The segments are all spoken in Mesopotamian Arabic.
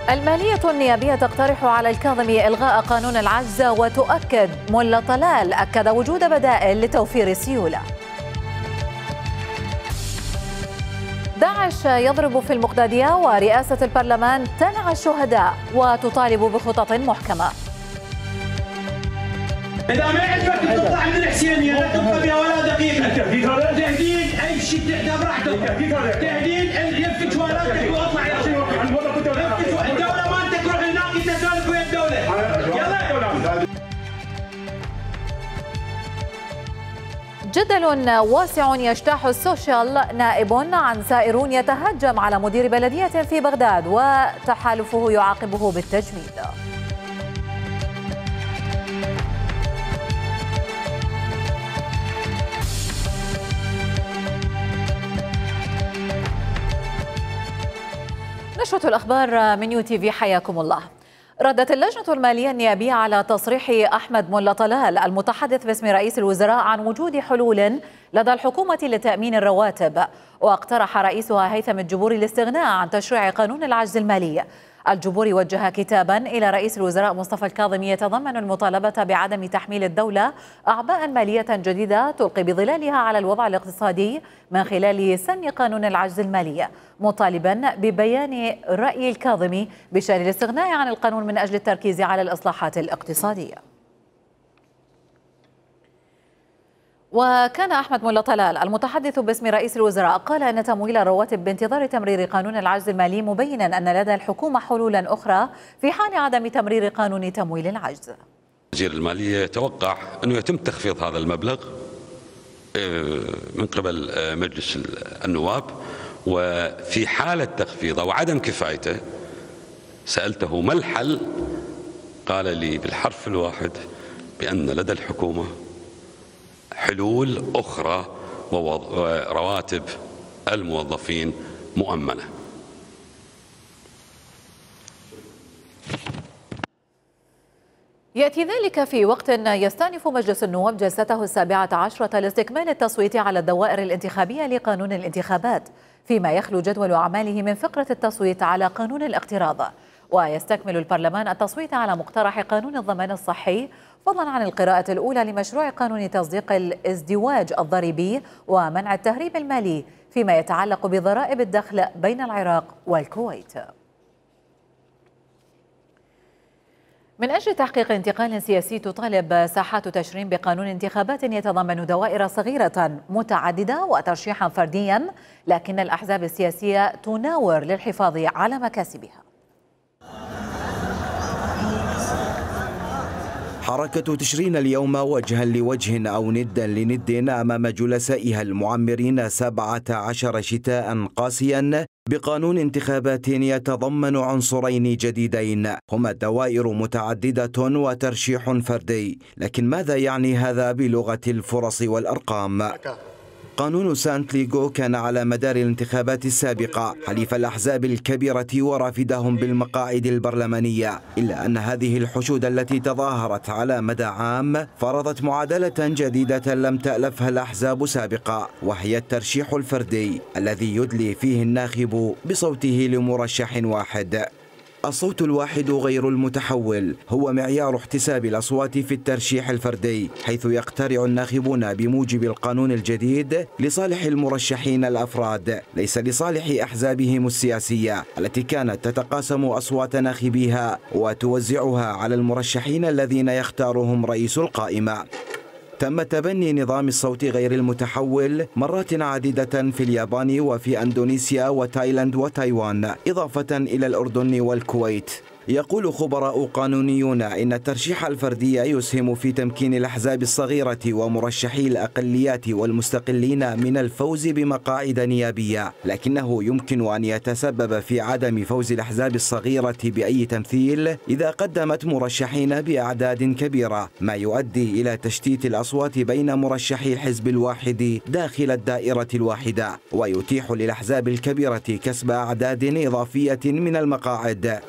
المالية النيابية تقترح على الكاظمي إلغاء قانون العجز، وتؤكد ملا طلال أكد وجود بدائل لتوفير السيولة. داعش يضرب في المقدادية، ورئاسة البرلمان تنعى الشهداء وتطالب بخطط محكمة. إذا ما عجبك تطلع من الحسينية لا تبقى بها ولا دقيقة. تهديد أي شيء تحدى براحتك. تهديد يفتش وراتك واطلع يا الدولة ما أنت تروح هناك أنت سالك ويا الدولة. يلا. جدل واسع يجتاح السوشيال، نائب عن سائرون يتهجم على مدير بلدية في بغداد وتحالفه يعاقبه بالتجميد. نشرة الأخبار من UTV، حياكم الله. ردت اللجنة المالية النيابية على تصريح أحمد ملا طلال المتحدث باسم رئيس الوزراء عن وجود حلول لدى الحكومة لتأمين الرواتب، واقترح رئيسها هيثم الجبوري الاستغناء عن تشريع قانون العجز المالي. الجبوري وجه كتابا إلى رئيس الوزراء مصطفى الكاظمي يتضمن المطالبة بعدم تحميل الدولة أعباء مالية جديدة تلقي بظلالها على الوضع الاقتصادي من خلال سن قانون العجز المالي، مطالبا ببيان رأي الكاظمي بشأن الاستغناء عن القانون من أجل التركيز على الإصلاحات الاقتصادية. وكان أحمد ملا طلال المتحدث باسم رئيس الوزراء قال أن تمويل الرواتب بانتظار تمرير قانون العجز المالي، مبينا أن لدى الحكومة حلولا أخرى في حال عدم تمرير قانون تمويل العجز. وزير المالية يتوقع أنه يتم تخفيض هذا المبلغ من قبل مجلس النواب، وفي حالة تخفيضه وعدم كفايته سألته ما الحل، قال لي بالحرف الواحد بأن لدى الحكومة حلول أخرى ورواتب الموظفين مؤمنة. يأتي ذلك في وقت يستأنف مجلس النواب جلسته 17 لاستكمال التصويت على الدوائر الانتخابية لقانون الانتخابات، فيما يخلو جدول أعماله من فقرة التصويت على قانون الاقتراض. ويستكمل البرلمان التصويت على مقترح قانون الضمان الصحي، فضلا عن القراءة الأولى لمشروع قانون تصديق الازدواج الضريبي ومنع التهريب المالي فيما يتعلق بضرائب الدخل بين العراق والكويت. من أجل تحقيق انتقال سياسي، تطالب ساحات تشرين بقانون انتخابات يتضمن دوائر صغيرة متعددة وترشيحا فرديا، لكن الأحزاب السياسية تناور للحفاظ على مكاسبها. حركة تشرين اليوم وجها لوجه أو ندا لند أمام جلسائها المعمرين 17 شتاء قاسيا بقانون انتخابات يتضمن عنصرين جديدين هما دوائر متعددة وترشيح فردي. لكن ماذا يعني هذا بلغة الفرص والأرقام؟ قانون سانت ليغو كان على مدار الانتخابات السابقة حليف الأحزاب الكبيرة ورافدهم بالمقاعد البرلمانية، إلا أن هذه الحشود التي تظاهرت على مدى عام فرضت معادلة جديدة لم تألفها الأحزاب سابقا، وهي الترشيح الفردي الذي يدلي فيه الناخب بصوته لمرشح واحد. الصوت الواحد غير المتحول هو معيار احتساب الأصوات في الترشيح الفردي، حيث يقترع الناخبون بموجب القانون الجديد لصالح المرشحين الأفراد، ليس لصالح أحزابهم السياسية التي كانت تتقاسم أصوات ناخبيها وتوزعها على المرشحين الذين يختارهم رئيس القائمة. تم تبني نظام الصوت غير المتحول مرات عديدة في اليابان وفي أندونيسيا وتايلاند وتايوان، إضافة إلى الأردن والكويت. يقول خبراء قانونيون إن الترشيح الفردي يسهم في تمكين الأحزاب الصغيرة ومرشحي الأقليات والمستقلين من الفوز بمقاعد نيابية، لكنه يمكن أن يتسبب في عدم فوز الأحزاب الصغيرة بأي تمثيل إذا قدمت مرشحين بأعداد كبيرة، ما يؤدي إلى تشتيت الأصوات بين مرشحي الحزب الواحد داخل الدائرة الواحدة، ويتيح للأحزاب الكبيرة كسب أعداد إضافية من المقاعد.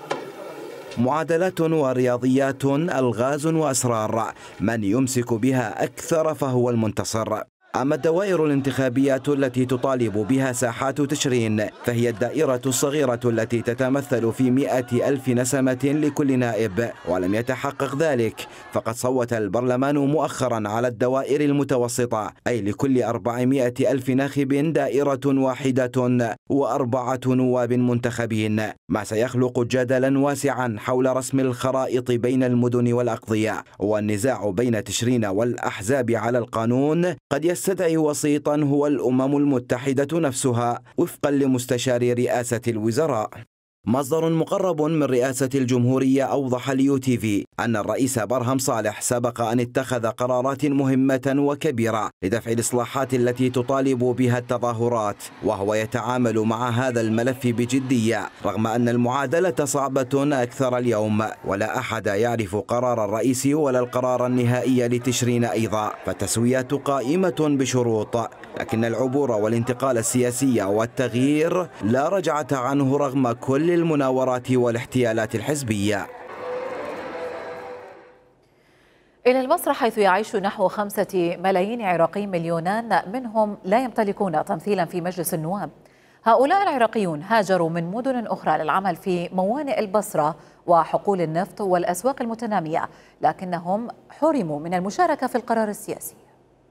معادلات ورياضيات، ألغاز وأسرار، من يمسك بها أكثر فهو المنتصر. أما الدوائر الانتخابية التي تطالب بها ساحات تشرين فهي الدائرة الصغيرة التي تتمثل في 100,000 نسمة لكل نائب، ولم يتحقق ذلك، فقد صوت البرلمان مؤخرا على الدوائر المتوسطة، أي لكل 400,000 ناخب دائرة واحدة و4 نواب منتخبين، ما سيخلق جدلا واسعا حول رسم الخرائط بين المدن والأقضية. والنزاع بين تشرين والأحزاب على القانون قد يستدعي وسيطا هو الأمم المتحدة نفسها وفقا لمستشار رئاسة الوزراء. مصدر مقرب من رئاسة الجمهورية أوضح لUTV أن الرئيس برهم صالح سبق أن اتخذ قرارات مهمة وكبيرة لدفع الإصلاحات التي تطالب بها التظاهرات، وهو يتعامل مع هذا الملف بجدية رغم أن المعادلة صعبة أكثر اليوم، ولا أحد يعرف قرار الرئيس ولا القرار النهائي لتشرين أيضا، فالتسويات قائمة بشروط، لكن العبور والانتقال السياسي والتغيير لا رجعة عنه رغم كل المناورات والاحتيالات الحزبية. إلى البصرة حيث يعيش نحو 5 ملايين عراقي، مليونان منهم لا يمتلكون تمثيلا في مجلس النواب. هؤلاء العراقيون هاجروا من مدن أخرى للعمل في موانئ البصرة وحقول النفط والأسواق المتنامية، لكنهم حرموا من المشاركة في القرار السياسي.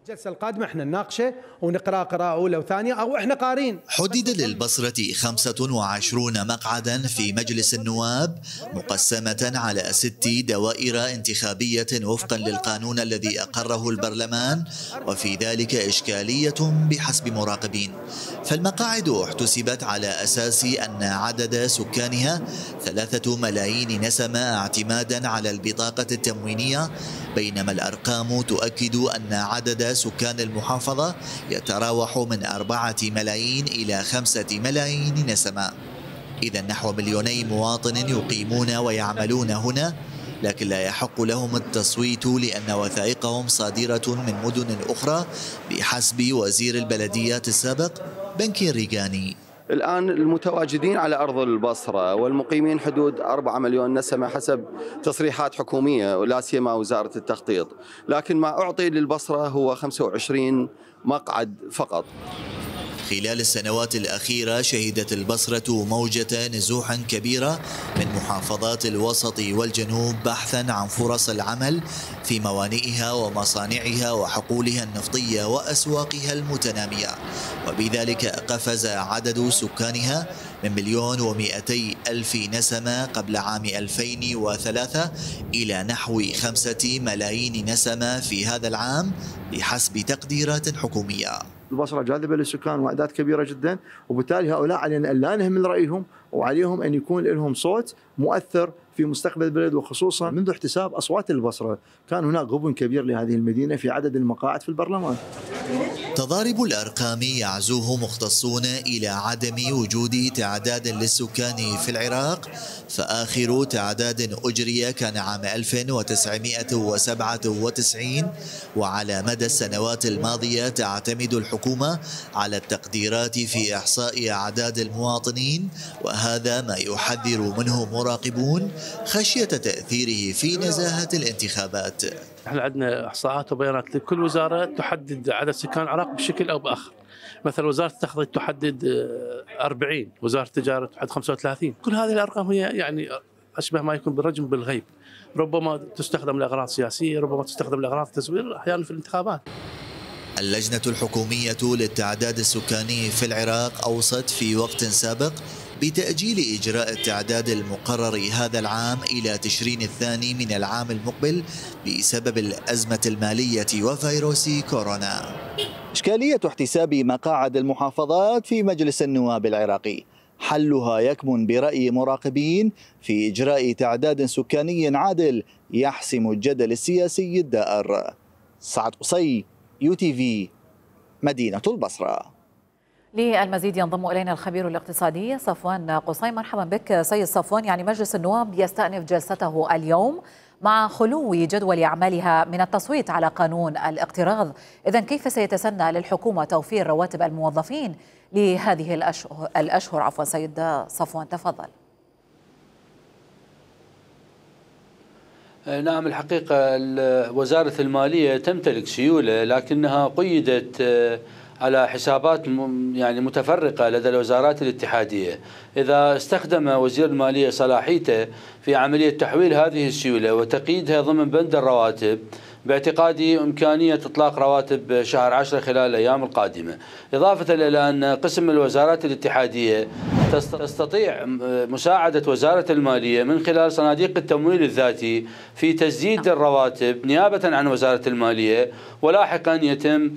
الجلسة القادمة احنا نناقشه ونقرأ قراءة أولى وثانية أو احنا قارين. حدد للبصرة 25 مقعدا في مجلس النواب مقسمة على 6 دوائر انتخابية وفقا للقانون الذي أقره البرلمان، وفي ذلك إشكالية بحسب مراقبين، فالمقاعد احتسبت على أساس أن عدد سكانها 3 ملايين نسمة اعتمادا على البطاقة التموينية، بينما الأرقام تؤكد أن عدد سكان المحافظة يتراوح من 4 ملايين إلى 5 ملايين نسمة. إذا نحو 2 مواطن يقيمون ويعملون هنا، لكن لا يحق لهم التصويت لأن وثائقهم صادرة من مدن أخرى بحسب وزير البلديات السابق بنكي ريغاني. الآن المتواجدين على أرض البصرة والمقيمين حدود 4 مليون نسمة حسب تصريحات حكومية ولا سيما وزارة التخطيط، لكن ما أعطي للبصرة هو 25 مقعد فقط. خلال السنوات الأخيرة شهدت البصرة موجة نزوح كبيرة من محافظات الوسط والجنوب بحثا عن فرص العمل في موانئها ومصانعها وحقولها النفطية وأسواقها المتنامية، وبذلك قفز عدد سكانها من 1,200,000 نسمة قبل عام 2003 إلى نحو 5 ملايين نسمة في هذا العام بحسب تقديرات حكومية. البصرة جاذبة للسكان وأعداد كبيرة جدا، وبالتالي هؤلاء علينا أن لا نهمل رأيهم، وعليهم أن يكون لهم صوت مؤثر في مستقبل البلد، وخصوصا منذ احتساب أصوات البصرة كان هناك غبن كبير لهذه المدينة في عدد المقاعد في البرلمان. تضارب الأرقام يعزوه مختصون إلى عدم وجود تعداد للسكان في العراق، فآخر تعداد أجري كان عام 1997، وعلى مدى السنوات الماضية تعتمد الحكومة على التقديرات في إحصاء أعداد المواطنين، وهذا ما يحذر منه مراقبون خشية تأثيره في نزاهة الانتخابات. احنا عندنا احصاءات وبيانات لكل وزاره تحدد عدد سكان العراق بشكل او باخر. مثلا وزاره التخطيط تحدد 40، وزاره التجاره تحدد 35. كل هذه الارقام هي يعني اشبه ما يكون بالرجم بالغيب، ربما تستخدم لاغراض سياسيه، ربما تستخدم لاغراض تزوير احيانا في الانتخابات. اللجنة الحكومية للتعداد السكاني في العراق أوصت في وقت سابق بتأجيل إجراء التعداد المقرر هذا العام إلى تشرين الثاني من العام المقبل بسبب الأزمة المالية وفيروس كورونا. إشكالية احتساب مقاعد المحافظات في مجلس النواب العراقي حلها يكمن برأي مراقبين في إجراء تعداد سكاني عادل يحسم الجدل السياسي الدائر. سعد قصي، UTV، مدينة البصرة. للمزيد ينضم إلينا الخبير الاقتصادي صفوان قصي. مرحبا بك سيد صفوان. يعني مجلس النواب يستأنف جلسته اليوم مع خلو جدول أعمالها من التصويت على قانون الاقتراض، إذن كيف سيتسنى للحكومة توفير رواتب الموظفين لهذه الأشهر؟ سيد صفوان تفضل. نعم، الحقيقة وزارة المالية تمتلك سيولة، لكنها قيدت على حسابات يعني متفرقة لدى الوزارات الاتحادية. إذا استخدم وزير المالية صلاحيته في عملية تحويل هذه السيولة وتقييدها ضمن بند الرواتب، باعتقادي إمكانية إطلاق رواتب شهر 10 خلال الأيام القادمة، إضافة إلى أن قسم الوزارات الاتحادية تستطيع مساعدة وزارة المالية من خلال صناديق التمويل الذاتي في تسديد الرواتب نيابة عن وزارة المالية، ولاحقا يتم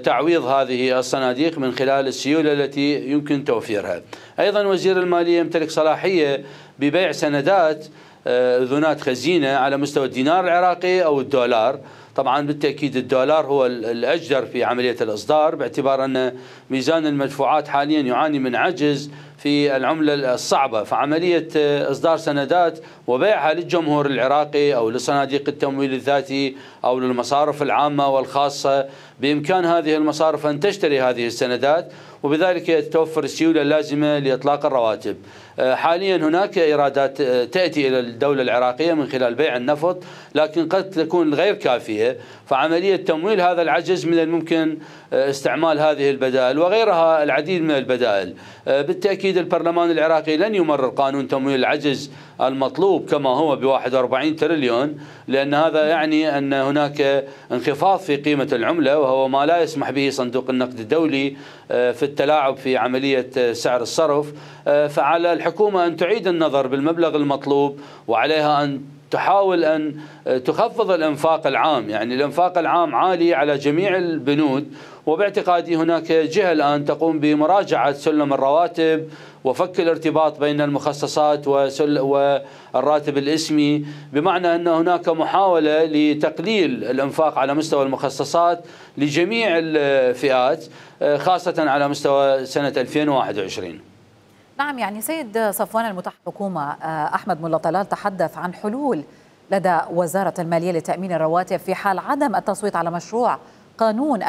تعويض هذه الصناديق من خلال السيولة التي يمكن توفيرها. أيضا وزير المالية يمتلك صلاحية ببيع سندات أذونات خزينة على مستوى الدينار العراقي أو الدولار. طبعا بالتأكيد الدولار هو الأجدر في عملية الإصدار، باعتبار أن ميزان المدفوعات حاليا يعاني من عجز في العملة الصعبة، فعملية إصدار سندات وبيعها للجمهور العراقي أو لصناديق التمويل الذاتي أو للمصارف العامة والخاصة، بإمكان هذه المصارف أن تشتري هذه السندات، وبذلك تتوفر السيولة اللازمة لإطلاق الرواتب. حاليا هناك إيرادات تأتي إلى الدولة العراقية من خلال بيع النفط، لكن قد تكون غير كافية، فعملية تمويل هذا العجز من الممكن استعمال هذه البدائل وغيرها العديد من البدائل. بالتأكيد البرلمان العراقي لن يمرر قانون تمويل العجز المطلوب كما هو ب41 تريليون، لأن هذا يعني أن هناك انخفاض في قيمة العملة، وهو ما لا يسمح به صندوق النقد الدولي في التلاعب في عملية سعر الصرف. فعلى الحكومة أن تعيد النظر بالمبلغ المطلوب، وعليها أن تحاول أن تخفض الإنفاق العام، يعني الإنفاق العام عالي على جميع البنود، وباعتقادي هناك جهة الآن تقوم بمراجعة سلم الرواتب وفك الارتباط بين المخصصات والراتب الاسمي، بمعنى أن هناك محاولة لتقليل الإنفاق على مستوى المخصصات لجميع الفئات، خاصة على مستوى سنة 2021. نعم، يعني سيد صفوان المتحدث الحكومة أحمد ملا طلال تحدث عن حلول لدى وزارة المالية لتأمين الرواتب في حال عدم التصويت على مشروع قانون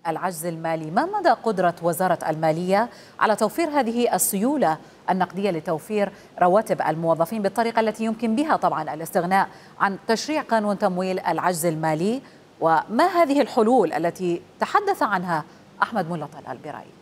العجز المالي. ما مدى قدرة وزارة المالية على توفير هذه السيولة النقدية لتوفير رواتب الموظفين بالطريقة التي يمكن بها طبعا الاستغناء عن تشريع قانون تمويل العجز المالي؟ وما هذه الحلول التي تحدث عنها أحمد ملا طلال برأيك؟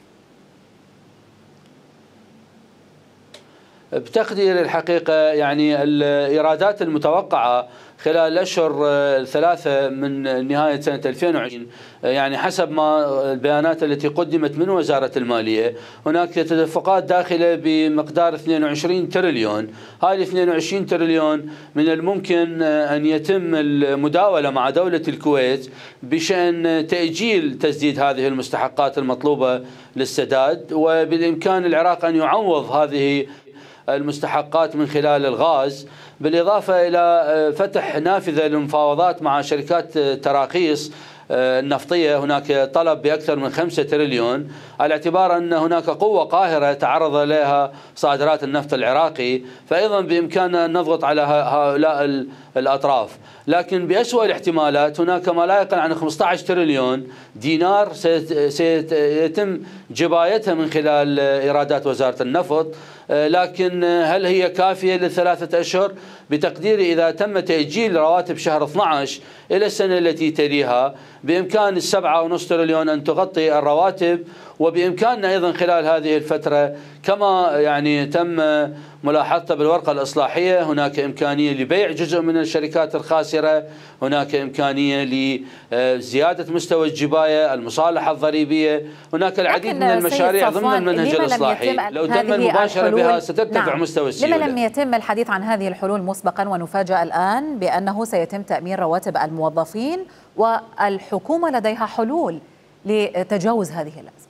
بتقدير الحقيقة يعني الإيرادات المتوقعة خلال الأشهر الثلاثة من نهاية سنة 2020، يعني حسب ما البيانات التي قدمت من وزارة المالية، هناك تدفقات داخلة بمقدار 22 تريليون. هذه 22 تريليون من الممكن أن يتم المداولة مع دولة الكويت بشأن تأجيل تسديد هذه المستحقات المطلوبة للسداد، وبالإمكان العراق أن يعوض هذه المستحقات من خلال الغاز، بالإضافة إلى فتح نافذة للمفاوضات مع شركات تراخيص النفطية. هناك طلب بأكثر من 5 تريليون، على اعتبار أن هناك قوة قاهرة تعرض لها صادرات النفط العراقي، فأيضا بإمكاننا أن نضغط على هؤلاء الأطراف. لكن بأسوأ الاحتمالات هناك ما لا يقل عن 15 تريليون دينار سيتم جبايتها من خلال إيرادات وزارة النفط، لكن هل هي كافية للثلاثة أشهر؟ بتقديري إذا تم تأجيل رواتب شهر 12 إلى السنة التي تليها، بإمكان 7.5 تريليون أن تغطي الرواتب، وبإمكاننا أيضا خلال هذه الفترة كما يعني تم ملاحظته بالورقة الإصلاحية، هناك إمكانية لبيع جزء من الشركات الخاسرة، هناك إمكانية لزيادة مستوى الجباية، المصالحة الضريبية، هناك العديد من المشاريع ضمن المنهج الإصلاحي لو تم المباشرة بها سترتفع مستوى السيولة. لما لم يتم الحديث عن هذه الحلول مسبقا ونفاجأ الآن بأنه سيتم تأمين رواتب الموظفين والحكومة لديها حلول لتجاوز هذه الأزمة؟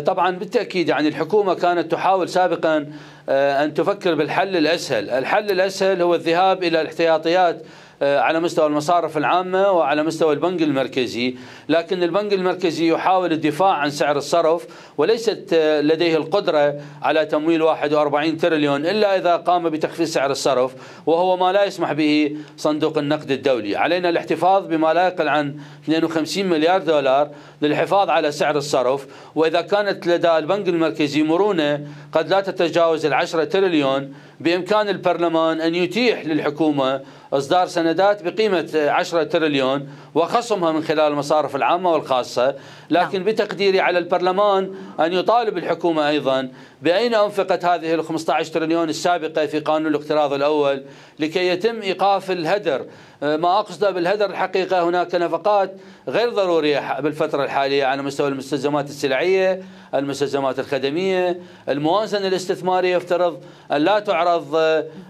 طبعا بالتأكيد يعني الحكومة كانت تحاول سابقا أن تفكر بالحل الأسهل. الحل الأسهل هو الذهاب إلى الاحتياطيات على مستوى المصارف العامة وعلى مستوى البنك المركزي، لكن البنك المركزي يحاول الدفاع عن سعر الصرف وليست لديه القدرة على تمويل 41 تريليون إلا إذا قام بتخفيض سعر الصرف، وهو ما لا يسمح به صندوق النقد الدولي. علينا الاحتفاظ بما لا يقل عن 52 مليار دولار للحفاظ على سعر الصرف، وإذا كانت لدى البنك المركزي مرونة قد لا تتجاوز 10 تريليون بإمكان البرلمان أن يتيح للحكومة إصدار سندات بقيمة 10 تريليون وخصمها من خلال المصارف العامة والخاصة، لكن بتقديري على البرلمان أن يطالب الحكومة أيضا بأين أنفقت هذه ال 15 تريليون السابقة في قانون الاقتراض الأول لكي يتم إيقاف الهدر. ما أقصده بالهدر الحقيقة هناك نفقات غير ضرورية بالفترة الحالية على مستوى المستلزمات السلعية، المستلزمات الخدمية، الموازنة الاستثمارية يفترض أن لا تعرض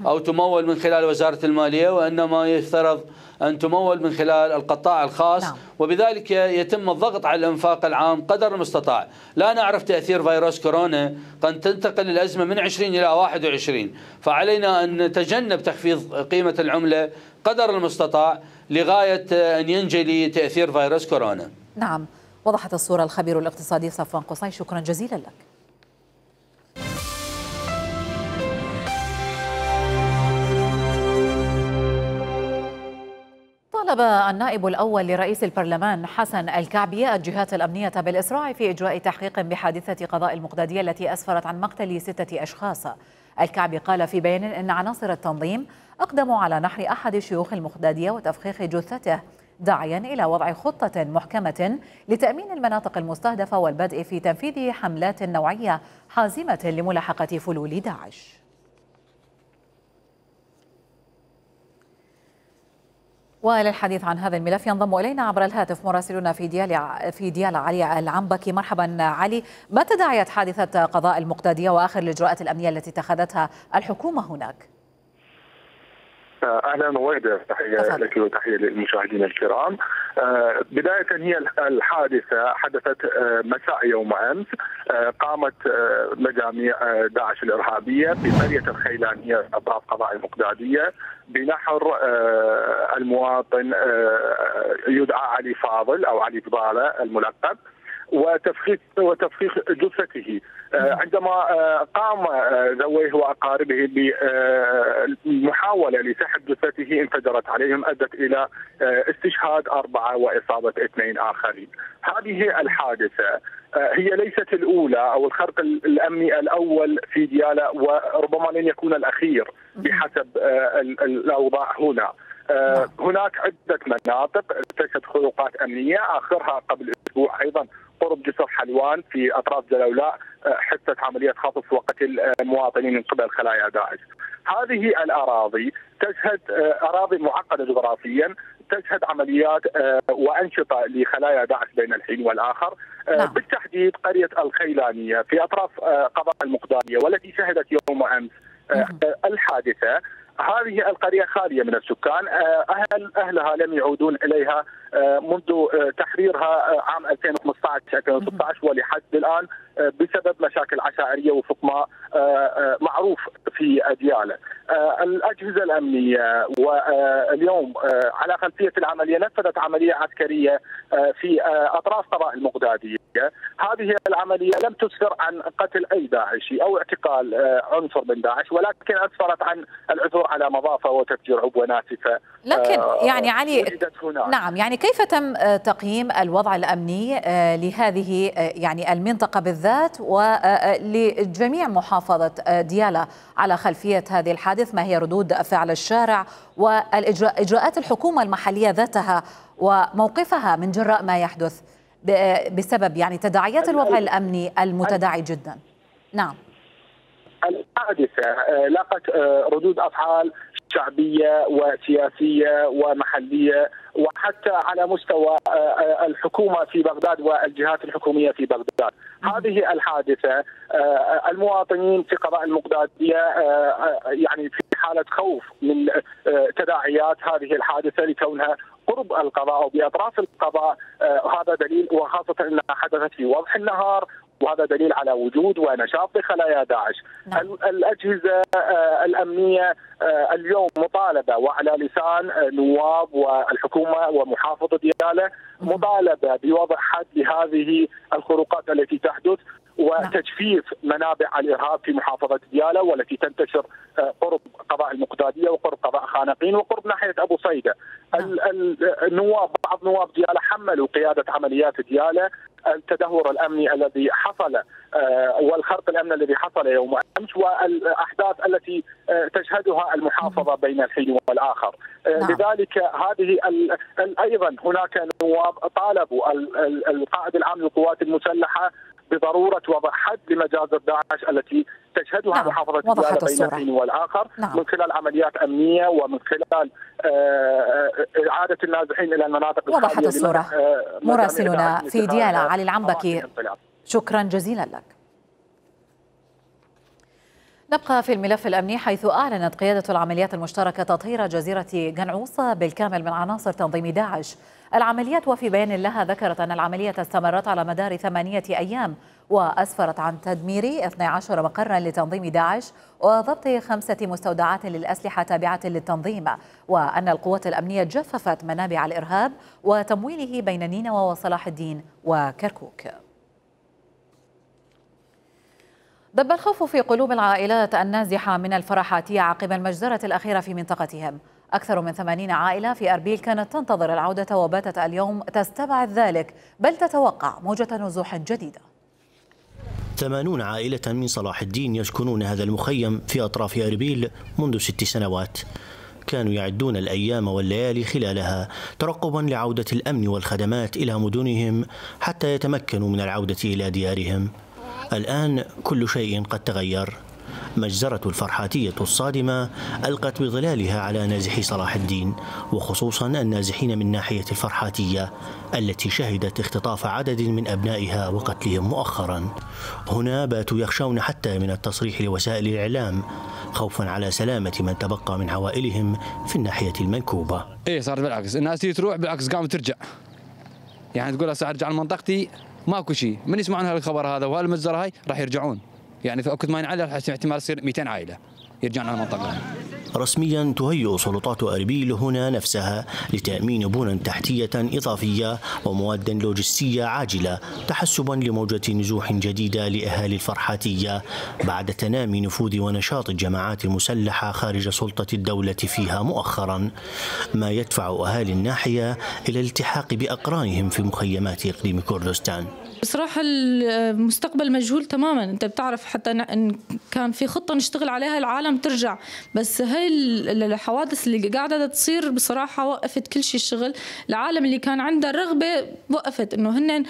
أو تمول من خلال وزارة المالية، وإنما يفترض أن تمول من خلال القطاع الخاص. نعم. وبذلك يتم الضغط على الإنفاق العام قدر المستطاع. لا نعرف تأثير فيروس كورونا، قد تنتقل الأزمة من 20 إلى 21، فعلينا أن نتجنب تخفيض قيمة العملة قدر المستطاع لغاية أن ينجلي تأثير فيروس كورونا. نعم، وضحت الصورة الخبير الاقتصادي صفوان قصي، شكرا جزيلا لك. طالب النائب الأول لرئيس البرلمان حسن الكعبي الجهات الأمنية بالإسراع في إجراء تحقيق بحادثة قضاء المقدادية التي أسفرت عن مقتل 6 أشخاص. الكعبي قال في بيان إن عناصر التنظيم أقدموا على نحر أحد شيوخ المقدادية وتفخيخ جثته، داعيا إلى وضع خطة محكمة لتأمين المناطق المستهدفة والبدء في تنفيذ حملات نوعية حازمة لملاحقة فلول داعش. وللحديث عن هذا الملف ينضم إلينا عبر الهاتف مراسلنا في ديالى علي العنبكي. مرحبا علي، ما تداعيات حادثة قضاء المقدادية وآخر الإجراءات الأمنية التي اتخذتها الحكومة هناك؟ اهلا ووالده، تحيه لك وتحيه للمشاهدين الكرام. بدايه هي الحادثه حدثت مساء يوم امس. قامت مجاميع داعش الارهابيه في قريه الخيلانيه اطراف قضاء المقداديه بنحر المواطن يدعى علي فاضل او علي فضاله الملقب وتفخيخ جثته. عندما قام ذويه واقاربه بمحاوله لسحب جثته انفجرت عليهم، ادت الى استشهاد 4 واصابه 2 آخرين. هذه الحادثه هي ليست الاولى او الخرق الامني الاول في ديالى، وربما لن يكون الاخير بحسب الاوضاع هنا. هناك عده مناطق تشهد خروقات امنيه، اخرها قبل اسبوع ايضا قرب جسر حلوان في اطراف جلولاء حدثت عمليه خطف وقتل مواطنين من قبل خلايا داعش. هذه الاراضي تشهد اراضي معقده جغرافيا، تشهد عمليات وانشطه لخلايا داعش بين الحين والاخر. بالتحديد قريه الخيلانيه في اطراف قضاء المقداديه والتي شهدت يوم امس الحادثه. هذه القرية خالية من السكان، أهلها لم يعودون إليها منذ تحريرها عام 2015-2016 ولحد الآن بسبب مشاكل عشائرية وفق ما معروف في ديالى. الأجهزة الأمنية واليوم على خلفية العملية نفذت عملية عسكرية في أطراف قضاء المقدادية. هذه العملية لم تسفر عن قتل أي داعشي أو اعتقال عنصر من داعش، ولكن أسفرت عن العثور على مضافة وتفجير عبوة ناسفة. لكن يعني علي، نعم، يعني كيف تم تقييم الوضع الأمني لهذه يعني المنطقة بالذات ولجميع محافظة ديالى على خلفية هذه الحادث؟ ما هي ردود فعل الشارع والإجراءات الحكومة المحلية ذاتها وموقفها من جراء ما يحدث بسبب يعني تداعيات الوضع الأمني المتداعي جدا؟ نعم. الحادثة لاقت ردود أفعال شعبية وسياسية ومحلية وحتى على مستوى الحكومة في بغداد والجهات الحكومية في بغداد. هذه الحادثة المواطنين في قضاء المقدادية يعني في حالة خوف من تداعيات هذه الحادثة لكونها قرب القضاء وبأطراف القضاء. هذا دليل، وخاصة أنها حدثت في وضح النهار، وهذا دليل على وجود ونشاط لخلايا داعش. الأجهزة الأمنية اليوم مطالبة وعلى لسان نواب والحكومة ومحافظة ديالى مطالبة بوضع حد لهذه الخروقات التي تحدث وتجفيف منابع الإرهاب في محافظة ديالى والتي تنتشر قرب قضاء المقداديه وقرب قضاء خانقين وقرب ناحيه ابو صيده. النواب بعض نواب دياله حملوا قياده عمليات دياله التدهور الامني الذي حصل والخرق الامني الذي حصل يوم امس والاحداث التي تشهدها المحافظه بين الحين والاخر. لذلك هذه ايضا هناك نواب طالبوا القائد العام للقوات المسلحه بضروره وضع حد لمجازر داعش التي تشهدها محافظه دياله بين الحين والاخر من خلال عمليات امنيه ومن خلال اعاده النازحين الى المناطق الخاليه. وضحت الصوره. مراسلنا في دياله علي العنبكي، شكرا جزيلا لك. نبقى في الملف الأمني، حيث أعلنت قيادة العمليات المشتركة تطهير جزيرة قنعوصة بالكامل من عناصر تنظيم داعش. العمليات وفي بيان لها ذكرت أن العملية استمرت على مدار 8 أيام وأسفرت عن تدمير 12 مقرا لتنظيم داعش وضبط 5 مستودعات للأسلحة تابعة للتنظيم، وأن القوات الأمنية جففت منابع الإرهاب وتمويله بين نينوى وصلاح الدين وكركوك. دب الخوف في قلوب العائلات النازحة من الفرحاتية عقب المجزرة الأخيرة في منطقتهم. أكثر من 80 عائلة في أربيل كانت تنتظر العودة وباتت اليوم تستبعد ذلك، بل تتوقع موجة نزوح جديدة. 80 عائلة من صلاح الدين يسكنون هذا المخيم في أطراف أربيل منذ 6 سنوات. كانوا يعدون الأيام والليالي خلالها ترقبا لعودة الأمن والخدمات إلى مدنهم حتى يتمكنوا من العودة إلى ديارهم. الآن كل شيء قد تغير. مجزرة الفرحاتية الصادمة ألقت بظلالها على نازحي صلاح الدين، وخصوصا النازحين من ناحية الفرحاتية التي شهدت اختطاف عدد من أبنائها وقتلهم مؤخرا. هنا باتوا يخشون حتى من التصريح لوسائل الإعلام خوفا على سلامة من تبقى من عوائلهم في الناحية المنكوبة. صارت بالعكس، الناس تروح بالعكس قامت ترجع، يعني تقول هسه ارجع لمنطقتي ماكو شيء، من يسمعون هالخبر هذا وهالمجزره هاي راح يرجعون، يعني في وقت ما ينعلى احتمال يصير 200 عائله يرجعون على المنطقه. رسميا تهيئ سلطات أربيل هنا نفسها لتأمين بنى تحتية إضافية ومواد لوجستية عاجلة تحسبا لموجة نزوح جديدة لأهالي الفرحاتية بعد تنامي نفوذ ونشاط الجماعات المسلحة خارج سلطة الدولة فيها مؤخرا، ما يدفع أهالي الناحية إلى الالتحاق بأقرانهم في مخيمات إقليم كردستان. بصراحة المستقبل مجهول تماما. انت بتعرف حتى ان كان في خطة نشتغل عليها العالم ترجع، بس هاي الحوادث اللي قاعدة تصير بصراحة وقفت كل شيء. الشغل العالم اللي كان عنده رغبة وقفت، انه هن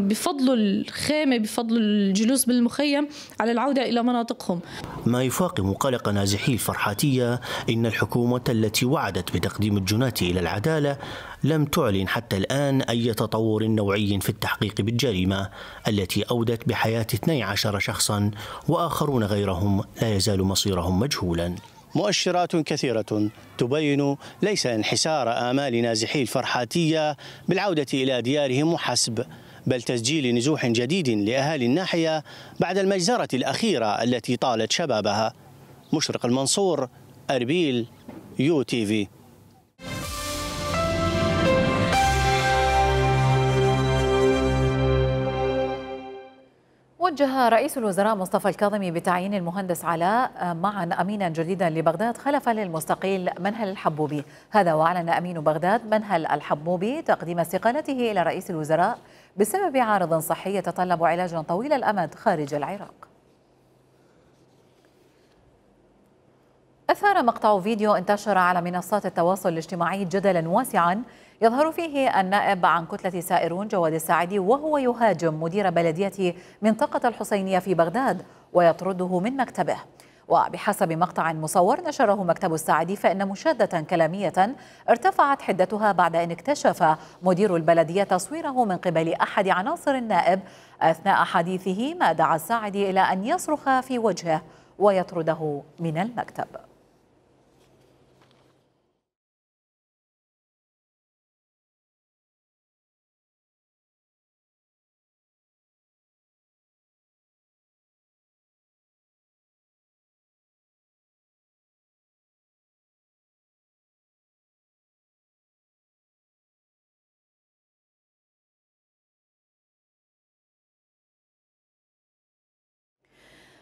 بفضلوا الخيمة بفضلوا الجلوس بالمخيم على العودة الى مناطقهم. ما يفاقم قلق نازحي الفرحاتية إن الحكومة التي وعدت بتقديم الجناة إلى العدالة لم تعلن حتى الآن أي تطور نوعي في التحقيق بالجريمة التي أودت بحياة 12 شخصا وآخرون غيرهم لا يزال مصيرهم مجهولا. مؤشرات كثيرة تبين ليس انحسار آمال نازحي الفرحاتية بالعودة إلى ديارهم وحسب، بل تسجيل نزوح جديد لأهالي الناحية بعد المجزرة الأخيرة التي طالت شبابها. مشرق المنصور، أربيل، UTV. وجه رئيس الوزراء مصطفى الكاظمي بتعيين المهندس علاء معا أمينا جديدا لبغداد خلفا للمستقيل منهل الحبوبي. هذا وأعلن أمين بغداد منهل الحبوبي تقديم استقالته إلى رئيس الوزراء بسبب عارض صحي يتطلب علاجا طويل الأمد خارج العراق. أثار مقطع فيديو انتشر على منصات التواصل الاجتماعي جدلا واسعا يظهر فيه النائب عن كتلة سائرون جواد الساعدي وهو يهاجم مدير بلدية منطقة الحسينية في بغداد ويطرده من مكتبه. وبحسب مقطع مصور نشره مكتب الساعدي فإن مشادة كلامية ارتفعت حدتها بعد أن اكتشف مدير البلدية تصويره من قبل أحد عناصر النائب أثناء حديثه، ما دعا الساعدي إلى أن يصرخ في وجهه ويطرده من المكتب.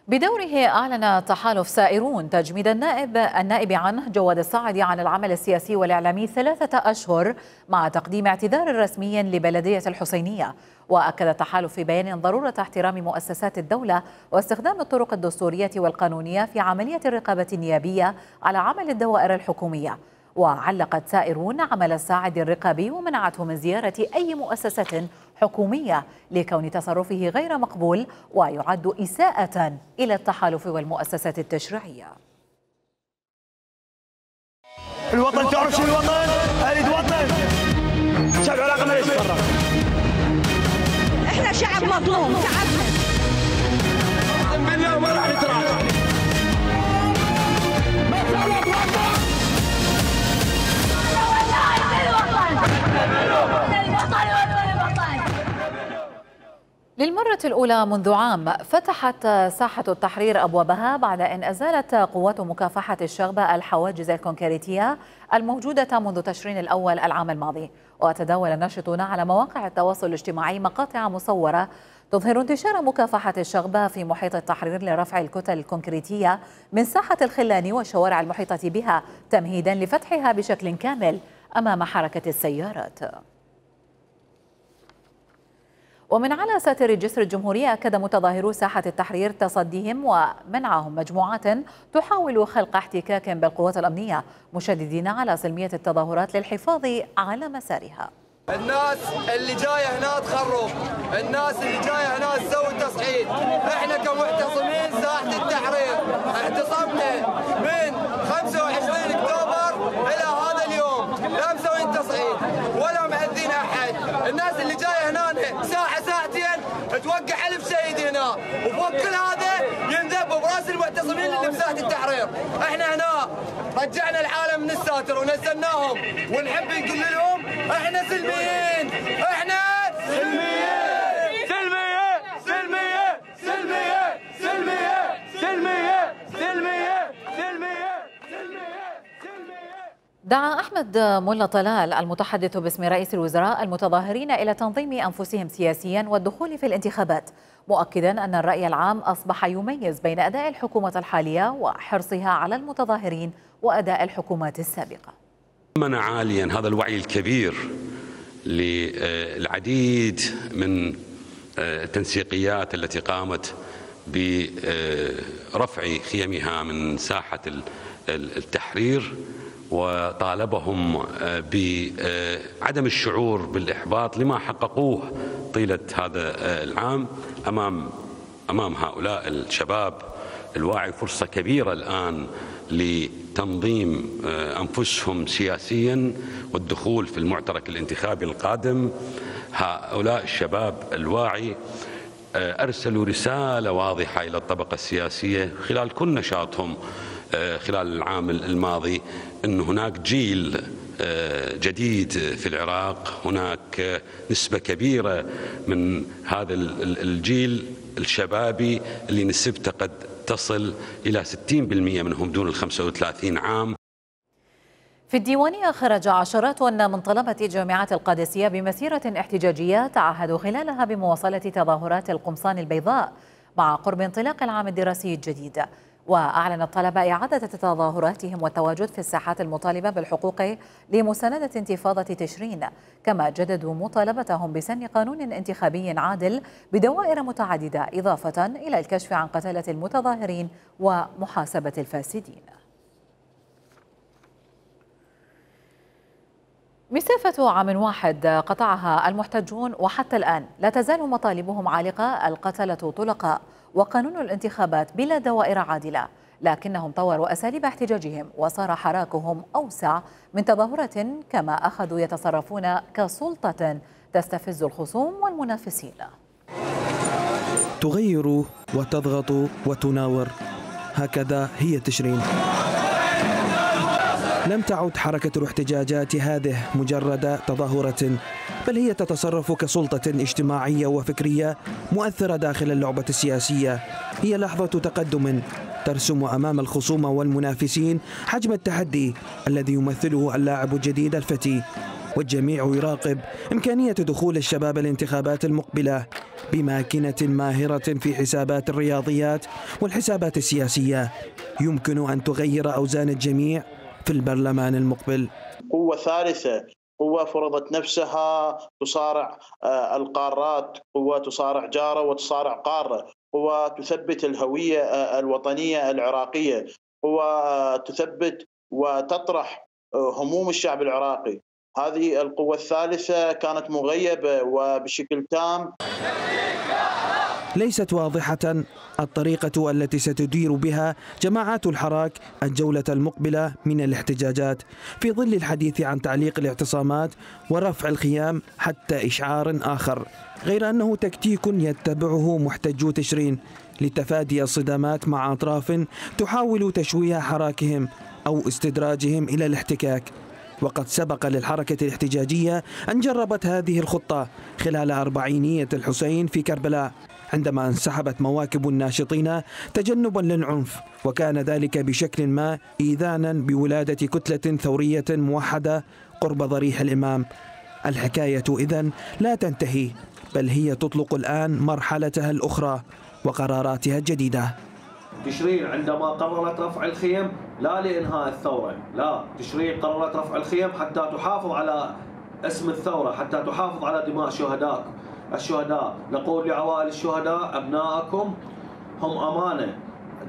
بدوره أعلن تحالف سائرون تجميد النائب عنه جواد الصاعدي عن العمل السياسي والإعلامي 3 أشهر مع تقديم اعتذار رسمي لبلدية الحسينية. وأكد التحالف في بيان ضرورة احترام مؤسسات الدولة واستخدام الطرق الدستورية والقانونية في عملية الرقابة النيابية على عمل الدوائر الحكومية. وعلقت سائرون عمل الساعد الرقابي ومنعته من زيارة أي مؤسسة حكومية لكون تصرفه غير مقبول ويعد إساءة إلى التحالف والمؤسسات التشريعية. الوطن تعرف شو الوطن؟ أريد وطن. شعب العراق ما يتفرق. احنا شعب مظلوم، تعبنا. بالله ما راح نتراجع. للمرة الأولى منذ عام فتحت ساحة التحرير أبوابها بعد أن أزالت قوات مكافحة الشغبة الحواجز الكونكريتية الموجودة منذ تشرين الأول العام الماضي. وتداول الناشطون على مواقع التواصل الاجتماعي مقاطع مصورة تظهر انتشار مكافحة الشغبة في محيط التحرير لرفع الكتل الكونكريتية من ساحة الخلاني والشوارع المحيطة بها تمهيدا لفتحها بشكل كامل أمام حركة السيارات. ومن على ساتر جسر الجمهورية أكد متظاهرو ساحة التحرير تصديهم ومنعهم مجموعات تحاول خلق احتكاك بالقوات الأمنية مشددين على سلمية التظاهرات للحفاظ على مسارها. الناس اللي جايه هنا تخرب، الناس اللي جايه هنا تسوي تصعيد، احنا كمعتصمين ساحة التحرير اعتصمنا من 25 اكتوبر الى هذا اليوم، لا مسوين تصعيد ولا مأذين احد، الناس اللي جايه هنا ساعة ساعتين توقع ألف شهيد هنا، وفوق كل هذا ينذب براس المعتصمين اللي بساحة التحرير، احنا هنا رجعنا العالم من الساتر ونزلناهم ونحب نقول لهم احنا سلميين، احنا سلميين سلميين سلميين سلميين سلميين سلميين سلميين سلميين. دعا أحمد ملا طلال المتحدث باسم رئيس الوزراء المتظاهرين إلى تنظيم أنفسهم سياسيا والدخول في الانتخابات، مؤكدا أن الرأي العام أصبح يميز بين أداء الحكومة الحالية وحرصها على المتظاهرين وأداء الحكومات السابقة. منع عاليا هذا الوعي الكبير للعديد من التنسيقيات التي قامت برفع خيمها من ساحة التحرير، وطالبهم بعدم الشعور بالإحباط لما حققوه طيلة هذا العام أمام هؤلاء الشباب الواعي. فرصة كبيرة الآن لتنظيم أنفسهم سياسيا والدخول في المعترك الانتخابي القادم. هؤلاء الشباب الواعي أرسلوا رسالة واضحة إلى الطبقة السياسية خلال كل نشاطهم خلال العام الماضي أن هناك جيل جديد في العراق، هناك نسبة كبيرة من هذا الجيل الشبابي اللي نسبته قد تصل إلى 60% منهم دون 35 عام. في الديوانية خرج عشرات من طلبة جامعة القادسية بمسيرة احتجاجية تعهدوا خلالها بمواصلة تظاهرات القمصان البيضاء مع قرب انطلاق العام الدراسي الجديد. وأعلن الطلبة إعادة تظاهراتهم والتواجد في الساحات المطالبة بالحقوق لمساندة انتفاضة تشرين، كما جددوا مطالبتهم بسن قانون انتخابي عادل بدوائر متعددة، إضافة إلى الكشف عن قتلة المتظاهرين ومحاسبة الفاسدين. مسافة عام واحد قطعها المحتجون وحتى الآن لا تزال مطالبهم عالقة: القتلة طلقاء وقانون الانتخابات بلا دوائر عادلة. لكنهم طوروا أساليب احتجاجهم وصار حراكهم أوسع من تظاهرة، كما أخذوا يتصرفون كسلطة تستفز الخصوم والمنافسين. تغير وتضغط وتناور، هكذا هي تشرين. لم تعد حركة الاحتجاجات هذه مجرد تظاهرة، بل هي تتصرف كسلطة اجتماعية وفكرية مؤثرة داخل اللعبة السياسية. هي لحظة تقدم ترسم أمام الخصوم والمنافسين حجم التحدي الذي يمثله اللاعب الجديد الفتي. والجميع يراقب إمكانية دخول الشباب الانتخابات المقبلة بماكنة ماهرة في حسابات الرياضيات والحسابات السياسية يمكن أن تغير أوزان الجميع في البرلمان المقبل. قوة ثالثة، قوة فرضت نفسها تصارع القارات، قوة تصارع جارة وتصارع قارة، قوة تثبت الهوية الوطنية العراقية، قوة تثبت وتطرح هموم الشعب العراقي. هذه القوة الثالثة كانت مغيبة وبشكل تام. ليست واضحة الطريقة التي ستدير بها جماعات الحراك الجولة المقبلة من الاحتجاجات في ظل الحديث عن تعليق الاعتصامات ورفع الخيام حتى إشعار آخر، غير أنه تكتيك يتبعه محتجو تشرين لتفادي الصدامات مع أطراف تحاول تشويه حراكهم أو استدراجهم إلى الاحتكاك. وقد سبق للحركة الاحتجاجية أن جربت هذه الخطة خلال أربعينية الحسين في كربلاء عندما انسحبت مواكب الناشطين تجنبا للعنف، وكان ذلك بشكل ما إيذانا بولادة كتلة ثورية موحدة قرب ضريح الإمام. الحكاية إذن لا تنتهي، بل هي تطلق الآن مرحلتها الأخرى وقراراتها الجديدة. تشرين عندما قررت رفع الخيم لا لإنهاء الثورة، لا، تشرين قررت رفع الخيم حتى تحافظ على اسم الثورة، حتى تحافظ على دماء الشهداء. نقول لعوائل الشهداء أبنائكم هم أمانة،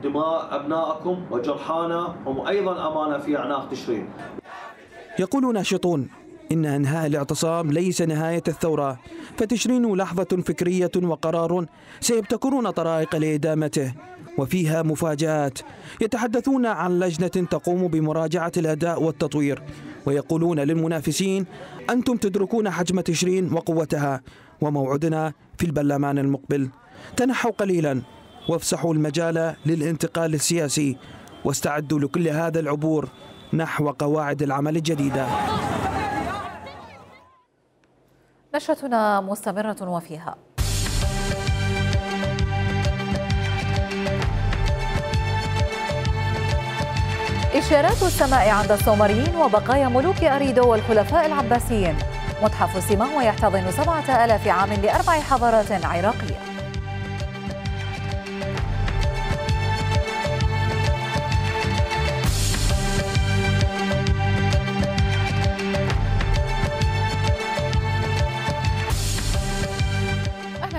دماء أبنائكم وجرحانا هم أيضا أمانة في أعناق تشرين. يقول ناشطون إن إنهاء الاعتصام ليس نهاية الثورة، فتشرين لحظة فكرية وقرار سيبتكرون طرائق لإدامته، وفيها مفاجآت. يتحدثون عن لجنة تقوم بمراجعة الأداء والتطوير، ويقولون للمنافسين أنتم تدركون حجم تشرين وقوتها، وموعدنا في البرلمان المقبل. تنحوا قليلا وافسحوا المجال للانتقال السياسي، واستعدوا لكل هذا العبور نحو قواعد العمل الجديدة. نشرتنا مستمرة وفيها إشارات السماء عند السومريين وبقايا ملوك أريدو والخلفاء العباسيين. متحف سيماوة يحتضن 7000 عام ل4 حضارات عراقية.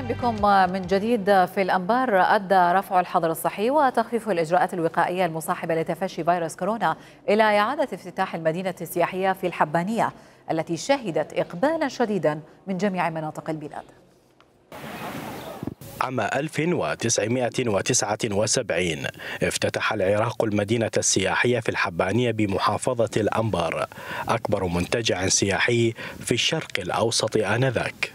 بكم من جديد في الأنبار. أدى رفع الحظر الصحي وتخفيف الإجراءات الوقائية المصاحبة لتفشي فيروس كورونا إلى إعادة افتتاح المدينة السياحية في الحبانية التي شهدت إقبالا شديدا من جميع مناطق البلاد. عام 1979 افتتح العراق المدينة السياحية في الحبانية بمحافظة الأنبار، أكبر منتجع سياحي في الشرق الأوسط آنذاك.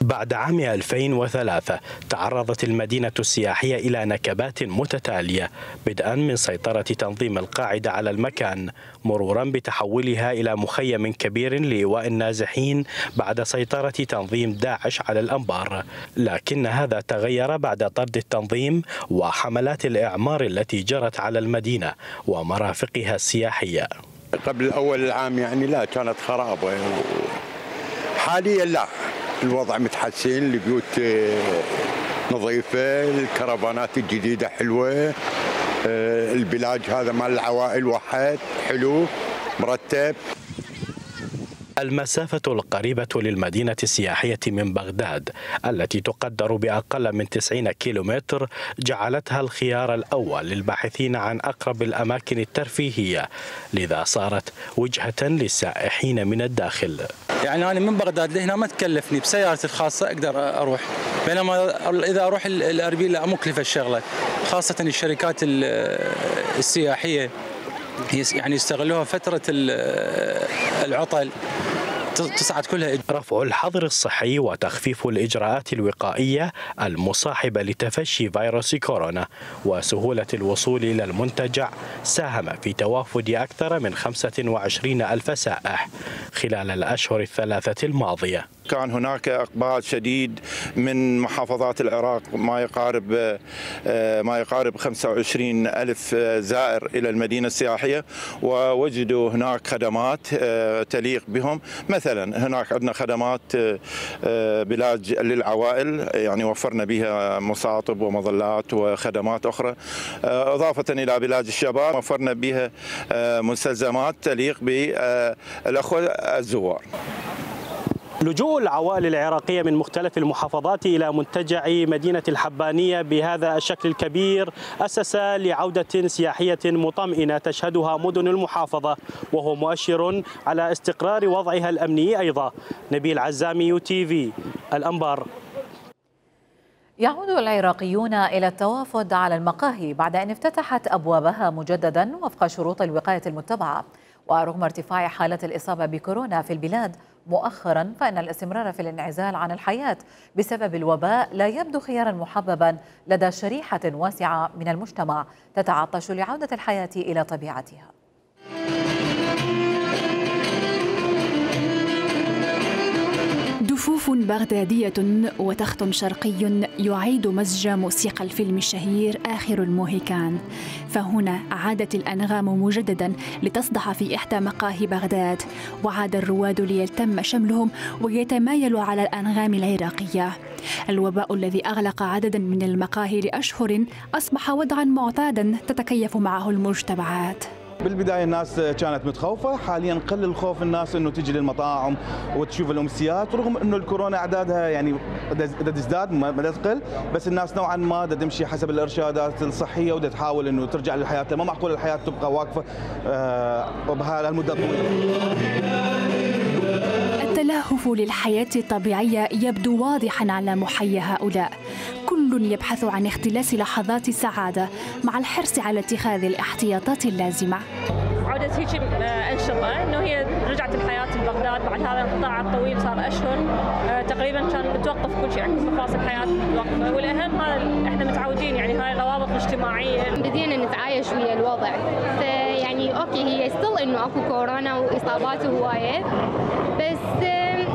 بعد عام 2003 تعرضت المدينة السياحية إلى نكبات متتالية، بدءا من سيطرة تنظيم القاعدة على المكان، مرورا بتحولها إلى مخيم كبير لإيواء النازحين بعد سيطرة تنظيم داعش على الأنبار. لكن هذا تغير بعد طرد التنظيم وحملات الإعمار التي جرت على المدينة ومرافقها السياحية. قبل أول العام يعني لا، كانت خرابة، حاليا لا، الوضع متحسن، البيوت نظيفة، الكرفانات الجديدة حلوة، البلاج هذا مال العوائل واحد حلو مرتب. المسافة القريبة للمدينة السياحية من بغداد التي تقدر بأقل من 90 كيلومتر جعلتها الخيار الأول للباحثين عن أقرب الأماكن الترفيهية، لذا صارت وجهة للسائحين من الداخل. يعني أنا من بغداد لهنا ما تكلفني، بسيارتي الخاصة أقدر أروح، بينما إذا أروح الأربيل لا مكلفة الشغلة، خاصة الشركات السياحية يعني يستغلوها فترة العطل تصعد كلها. رفع الحظر الصحي وتخفيف الإجراءات الوقائية المصاحبة لتفشي فيروس كورونا وسهولة الوصول إلى المنتجع ساهم في توافد أكثر من 25,000 سائح خلال الأشهر الثلاثة الماضية. كان هناك إقبال شديد من محافظات العراق ما يقارب 25 ألف زائر إلى المدينة السياحية، ووجدوا هناك خدمات تليق بهم. مثلا هناك عندنا خدمات بلاج للعوائل، يعني وفرنا بها مصاطب ومظلات وخدمات أخرى، إضافة إلى بلاج الشباب وفرنا بها مستلزمات تليق بالأخوة الزوار. لجوء العوائل العراقية من مختلف المحافظات إلى منتجع مدينة الحبانية بهذا الشكل الكبير أسس لعودة سياحية مطمئنة تشهدها مدن المحافظة، وهو مؤشر على استقرار وضعها الأمني أيضا. نبيل عزامي UTV الأنبار. يعود العراقيون إلى التوافد على المقاهي بعد أن افتتحت أبوابها مجددا وفق شروط الوقاية المتبعة. ورغم ارتفاع حالة الإصابة بكورونا في البلاد مؤخرا، فإن الاستمرار في الانعزال عن الحياة بسبب الوباء لا يبدو خيارا محببا لدى شريحة واسعة من المجتمع تتعطش لعودة الحياة إلى طبيعتها. دفوف بغدادية وتخت شرقي يعيد مزج موسيقى الفيلم الشهير آخر الموهيكان. فهنا عادت الأنغام مجددا لتصدح في إحدى مقاهي بغداد، وعاد الرواد ليتم شملهم ويتمايلوا على الأنغام العراقية. الوباء الذي أغلق عددا من المقاهي لأشهر أصبح وضعا معتادا تتكيف معه المجتمعات. بالبداية الناس كانت متخوفة، حاليا قل الخوف الناس انه تجي للمطاعم وتشوف الامسيات، رغم انه الكورونا اعدادها يعني تزداد ما تقل، بس الناس نوعا ما تمشي حسب الارشادات الصحية وتحاول انه ترجع للحياة. ما معقول الحياة تبقى واقفة بهالمدة الطويلة. التلهف للحياة الطبيعية يبدو واضحا على محيا هؤلاء. كل يبحث عن اختلاس لحظات سعادة مع الحرص على اتخاذ الاحتياطات اللازمة. عودة هيك أنشطة إنه هي رجعت الحياة ببغداد بعد هذا الانقطاع الطويل، صار أشهر تقريبا كان متوقف كل شيء، يعني مفاصل الحياة متوقفة، والأهم هذا احنا متعودين يعني هاي الروابط الاجتماعية بدينا نتعايش ويا الوضع. يعني أوكي هي ستيل إنه أكو كورونا وإصابات هواية، بس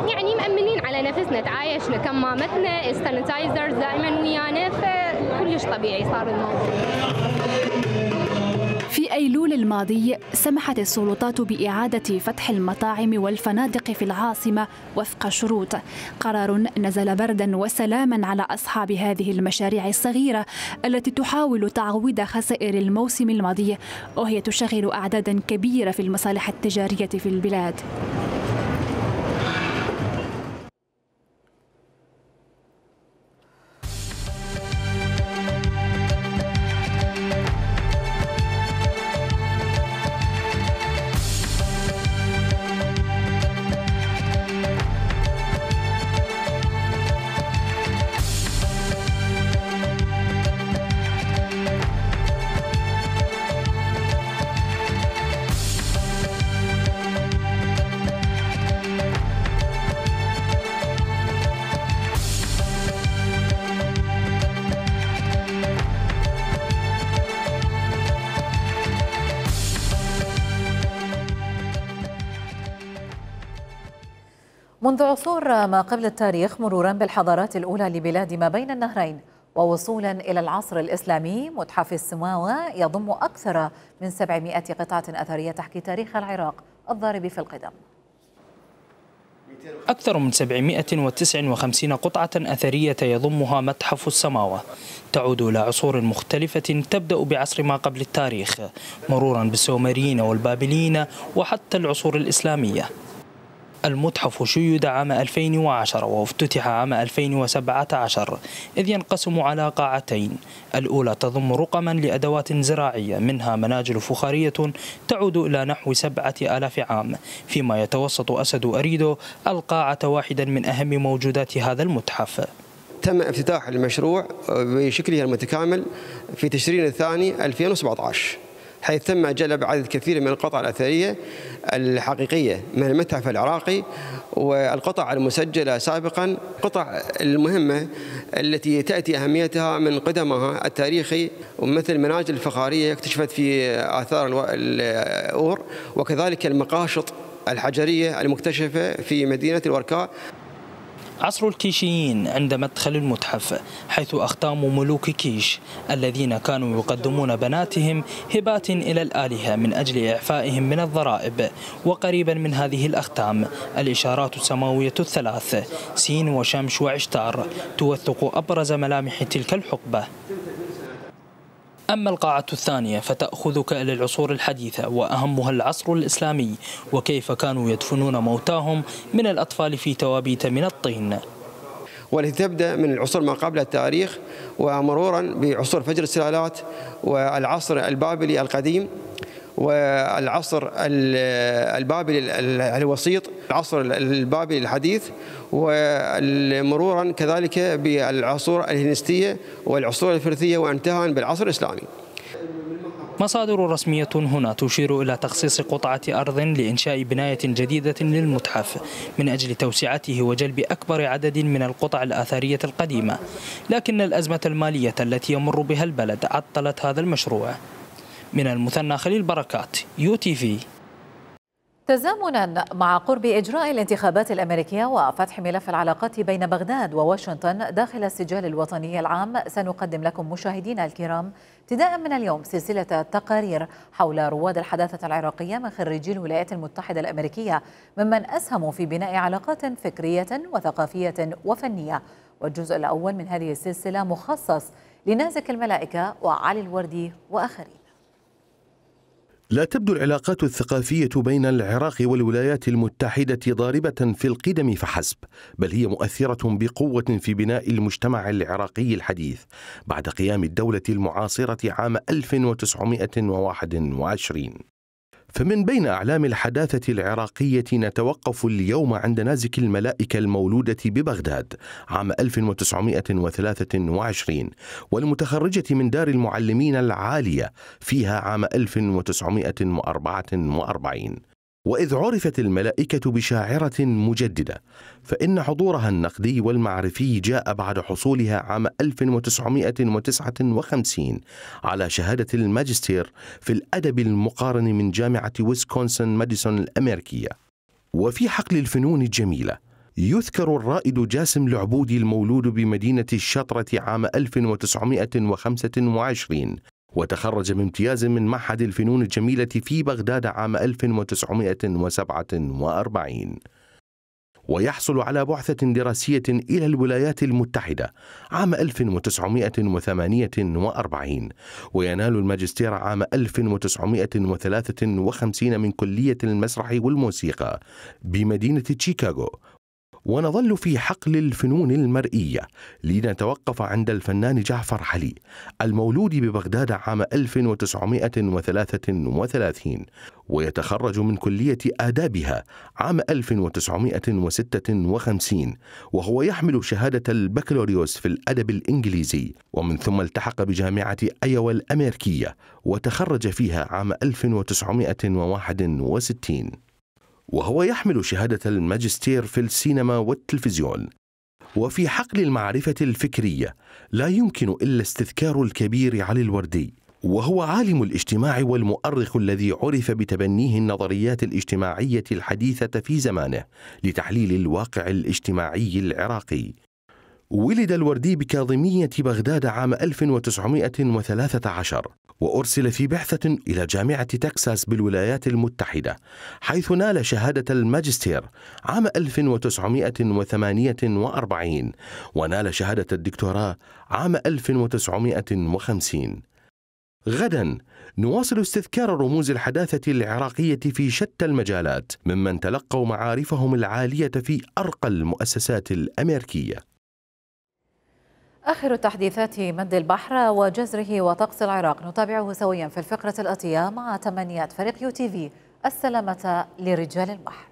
يعني مأمنين على نفسنا، تعايشنا كمامتنا، السانيتايزرز دائما ويانا، فكلش طبيعي صار الموضوع. في أيلول الماضي سمحت السلطات بإعادة فتح المطاعم والفنادق في العاصمة وفق شروط، قرار نزل بردا وسلاما على أصحاب هذه المشاريع الصغيرة التي تحاول تعويض خسائر الموسم الماضي، وهي تشغل أعدادا كبيرة في المصالح التجارية في البلاد. منذ عصور ما قبل التاريخ، مرورا بالحضارات الأولى لبلاد ما بين النهرين، ووصولا إلى العصر الإسلامي، متحف السماوة يضم أكثر من 700 قطعة أثرية تحكي تاريخ العراق الضارب في القدم. أكثر من 759 قطعة أثرية يضمها متحف السماوة، تعود إلى عصور مختلفة تبدأ بعصر ما قبل التاريخ، مرورا بالسومريين والبابليين وحتى العصور الإسلامية. المتحف شيد عام 2010 وافتتح عام 2017، إذ ينقسم على قاعتين. الأولى تضم رقما لأدوات زراعية، منها مناجل فخارية تعود إلى نحو 7000 عام، فيما يتوسط أسد أريدو القاعة واحدا من أهم موجودات هذا المتحف. تم افتتاح المشروع بشكله المتكامل في تشرين الثاني 2017، حيث تم جلب عدد كثير من القطع الأثرية الحقيقية من المتحف العراقي، والقطع المسجلة سابقا، قطع المهمة التي تأتي أهميتها من قدمها التاريخي، ومثل المناجل الفخارية اكتشفت في آثار الأور، وكذلك المقاشط الحجرية المكتشفة في مدينة الوركاء. عصر الكيشيين عند مدخل المتحف، حيث أختام ملوك كيش الذين كانوا يقدمون بناتهم هبات إلى الآلهة من أجل إعفائهم من الضرائب. وقريبا من هذه الأختام الإشارات السماوية الثلاث سين وشمش وعشتار توثق أبرز ملامح تلك الحقبة. أما القاعة الثانية فتأخذك إلى العصور الحديثة وأهمها العصر الإسلامي، وكيف كانوا يدفنون موتاهم من الأطفال في توابيت من الطين، والتي تبدأ من العصور ما قبل التاريخ ومرورا بعصور فجر السلالات والعصر البابلي القديم والعصر البابلي الوسيط، العصر البابلي الحديث، ومرورا كذلك بالعصور الهلينستية والعصور الفرثية، وانتهى بالعصر الإسلامي. مصادر رسمية هنا تشير إلى تخصيص قطعة أرض لإنشاء بناية جديدة للمتحف من أجل توسعته وجلب أكبر عدد من القطع الآثارية القديمة، لكن الأزمة المالية التي يمر بها البلد عطلت هذا المشروع. من المثنى خليل بركات، UTV. تزامنا مع قرب إجراء الانتخابات الأمريكية وفتح ملف العلاقات بين بغداد وواشنطن داخل السجال الوطني العام، سنقدم لكم مشاهدينا الكرام ابتداء من اليوم سلسلة تقارير حول رواد الحداثة العراقية من خريجي الولايات المتحدة الأمريكية ممن أسهموا في بناء علاقات فكرية وثقافية وفنية. والجزء الأول من هذه السلسلة مخصص لنازك الملائكة وعلي الوردي وآخرين. لا تبدو العلاقات الثقافية بين العراق والولايات المتحدة ضاربة في القدم فحسب، بل هي مؤثرة بقوة في بناء المجتمع العراقي الحديث بعد قيام الدولة المعاصرة عام 1921. فمن بين أعلام الحداثة العراقية نتوقف اليوم عند نازك الملائكة المولودة ببغداد عام 1923 والمتخرجة من دار المعلمين العالية فيها عام 1944. وإذ عرفت الملائكة بشاعرة مجددة فإن حضورها النقدي والمعرفي جاء بعد حصولها عام 1959 على شهادة الماجستير في الأدب المقارن من جامعة ويسكونسن ماديسون الأمريكية. وفي حقل الفنون الجميلة يذكر الرائد جاسم العبودي المولود بمدينة الشطرة عام 1925 وتخرج بامتياز من معهد الفنون الجميلة في بغداد عام 1947، ويحصل على بعثة دراسية إلى الولايات المتحدة عام 1948 وينال الماجستير عام 1953 من كلية المسرح والموسيقى بمدينة شيكاغو. ونظل في حقل الفنون المرئية لنتوقف عند الفنان جعفر علي المولود ببغداد عام 1933 ويتخرج من كلية آدابها عام 1956 وهو يحمل شهادة البكالوريوس في الأدب الإنجليزي، ومن ثم التحق بجامعة أيوا الأمريكية وتخرج فيها عام 1961 وهو يحمل شهادة الماجستير في السينما والتلفزيون. وفي حقل المعرفة الفكرية لا يمكن إلا استذكار الكبير علي الوردي، وهو عالم الاجتماع والمؤرخ الذي عرف بتبنيه النظريات الاجتماعية الحديثة في زمانه لتحليل الواقع الاجتماعي العراقي. ولد الوردي بكاظمية بغداد عام 1913 وأرسل في بعثة إلى جامعة تكساس بالولايات المتحدة حيث نال شهادة الماجستير عام 1948 ونال شهادة الدكتوراه عام 1950. غدا نواصل استذكار رموز الحداثة العراقية في شتى المجالات ممن تلقوا معارفهم العالية في أرقى المؤسسات الأمريكية. آخر التحديثات مد البحر وجزره وطقس العراق نتابعه سويا في الفقرة الآتية مع تمنيات فريق UTV السلامة لرجال البحر.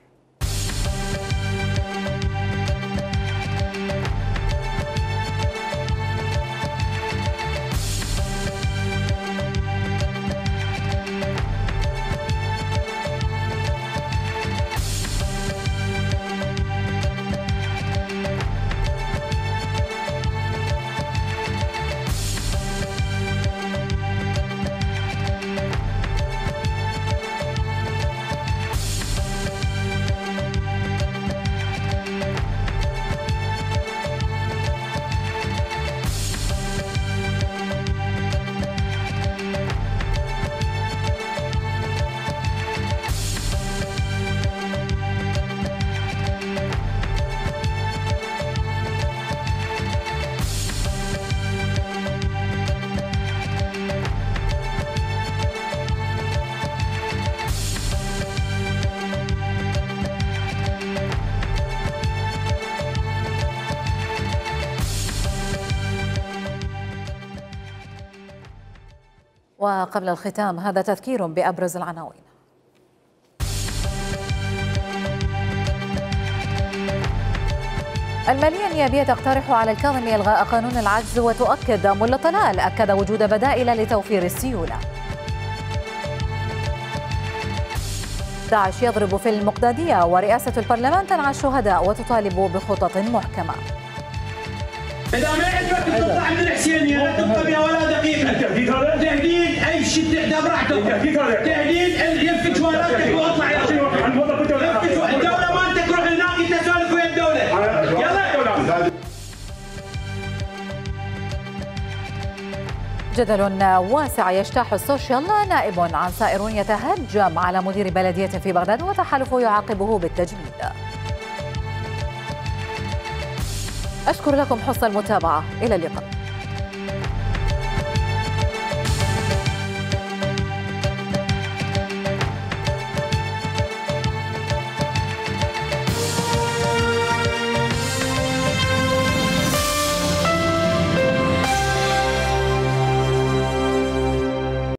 وقبل الختام هذا تذكير بأبرز العناوين. المالية النيابية تقترح على الكاظمي إلغاء قانون العجز، وتؤكد ملا طلال أكد وجود بدائل لتوفير السيولة. داعش يضرب في المقدادية، ورئاسة البرلمان تنعى الشهداء وتطالب بخطط محكمة. إذا ما عجبك تطلع من الحسينية لا تبقى بها ولا دقيقة. تهديد أي شيء تحدى براحتك. تهديد يفك شوالاتك واطلع يا أخي. الدولة ما أنت تروح هناك أنت سالف ويا الدولة. يلا. جدل واسع يجتاح السوشيال، نائب عن سائر يتهجم على مدير بلدية في بغداد وتحالفه يعاقبه بالتجميد. أشكر لكم حسن المتابعة، إلى اللقاء.